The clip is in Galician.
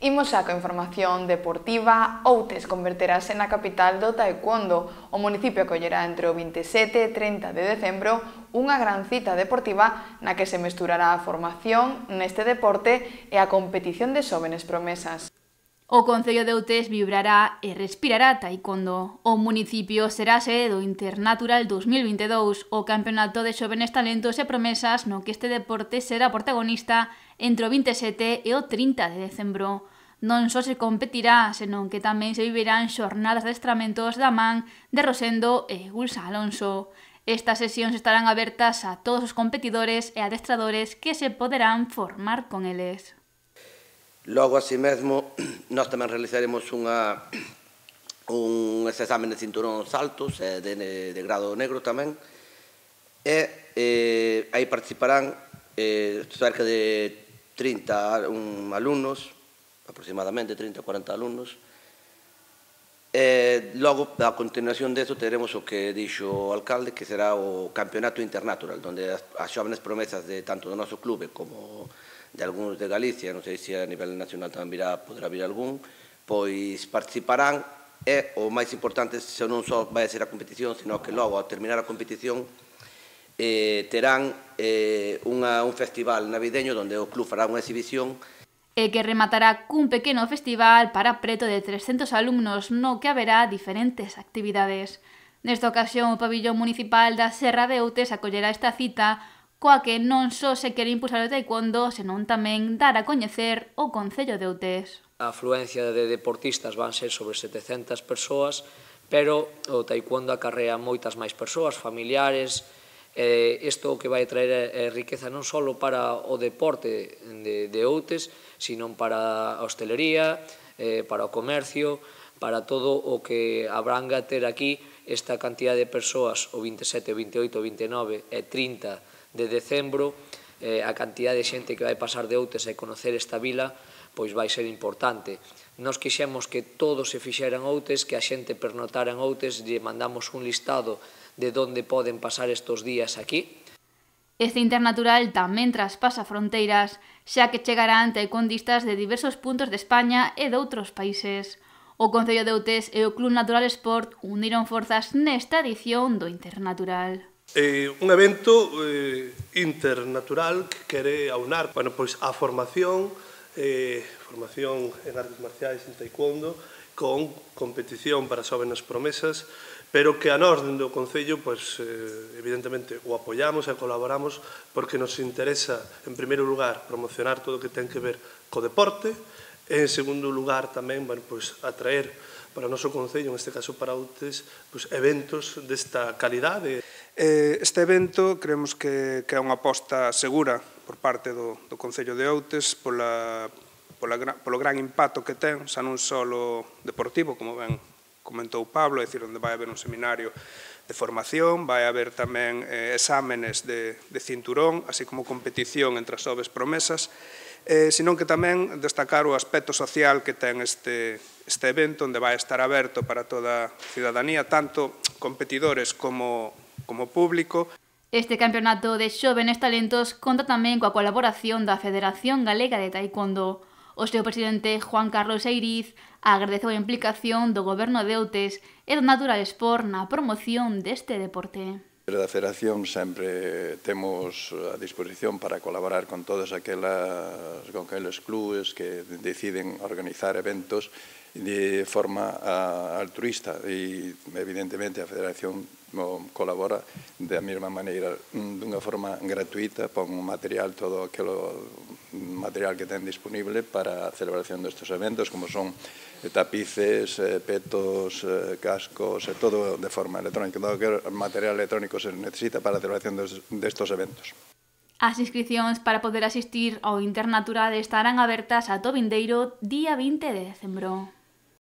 Imos xa coa información deportiva. Outes converterase na capital do taekwondo. O municipio acollerá entre o 27 e 30 de decembro unha gran cita deportiva na que se mesturará a formación neste deporte e a competición de xóvenes promesas. O Concello de Outes vibrará e respirará taekwondo. O municipio será sede do Internatural 2022, o campeonato de xóvenes talentos e promesas no que este deporte será protagonista entre o 27 e o 30 de decembro. Non só se competirá, senón que tamén se vivirán xornadas de adestramentos da man de Rosendo e Gulsa Alonso. Estas sesións estarán abertas a todos os competidores e adestradores que se poderán formar con eles. Logo, así mesmo, nós tamén realizaremos uns exames de cinturón altos de grado negro tamén, e aí participarán cerca de 30 alumnos, aproximadamente 30 ou 40 alumnos. Logo, a continuación deso, teremos o que dixo o alcalde, que será o campeonato internatural, onde as xóvenes promesas de tanto do noso clube como de algúns de Galicia, non sei se a nivel nacional tamén poderá vir algún, pois participarán, e o máis importante non só vai ser a competición, sino que logo, ao terminar a competición, terán un festival navideño onde o club fará unha exhibición e que rematará cun pequeno festival para preto de 300 alumnos no que haberá diferentes actividades. Nesta ocasión, o pabillón municipal da Serra de Outes acollerá esta cita coa que non só se quere impulsar o taekwondo, senón tamén dar a coñecer o Concello de Outes. A afluencia de deportistas van ser sobre 700 persoas, pero o taekwondo acarrea moitas máis persoas, familiares. Isto que vai traer riqueza non só para o deporte de Outes, sino para a hostelería, para o comercio, para todo o que abranga ter aquí esta cantidad de persoas o 27, 28, 29 e 30 de decembro. A cantidad de xente que vai pasar de Outes e conocer esta vila pois vai ser importante. Nós quixemos que todo se fixera en Outes, que a xente pernotara en Outes, lle mandamos un listado de onde poden pasar estes días aquí. Este internatural tamén traspasa fronteiras, xa que chegarán taekwondistas de diversos puntos de España e de outros países. O Concello de Outes e o Club Natural Sport uniron forzas nesta edición do Internatural. Un evento internatural que quere aunar pois a formación en artes marciais, en taekwondo, con competición para xóvenes promesas, pero que a nós, dentro do Concello, evidentemente, o apoiamos e colaboramos porque nos interesa, en primeiro lugar, promocionar todo o que ten que ver co deporte, e, en segundo lugar, tamén, atraer para o noso Concello, neste caso para Outes, eventos desta calidade. Este evento creemos que é unha aposta segura por parte do Concello de Outes polo gran impacto que ten, xa non só deportivo, como ben comentou Pablo, é dicir, onde vai haber un seminario de formación, vai haber tamén exámenes de cinturón, así como competición entre as xoves promesas, senón que tamén destacar o aspecto social que ten este evento, onde vai estar aberto para toda a cidadanía, tanto competidores como público. Este campeonato de xóvenes talentos conta tamén coa colaboración da Federación Galega de Taekwondo. O seu presidente, Juan Carlos Eiriz, agradeceu a implicación do Goberno de Outes e do Natural Sport na promoción deste deporte. Da Federación sempre temos a disposición para colaborar con todos aqueles clubes que deciden organizar eventos de forma altruista e, evidentemente, a Federación colabora da mesma maneira, dunha forma gratuita, pon material, todo aquele material que ten disponible para a celebración destes eventos, como son tapices, petos, cascos, todo de forma electrónica, todo o material electrónico se necesita para a celebración destes eventos. As inscricións para poder asistir ao Internatural estarán abertas ata o vindeiro día 20 de decembro.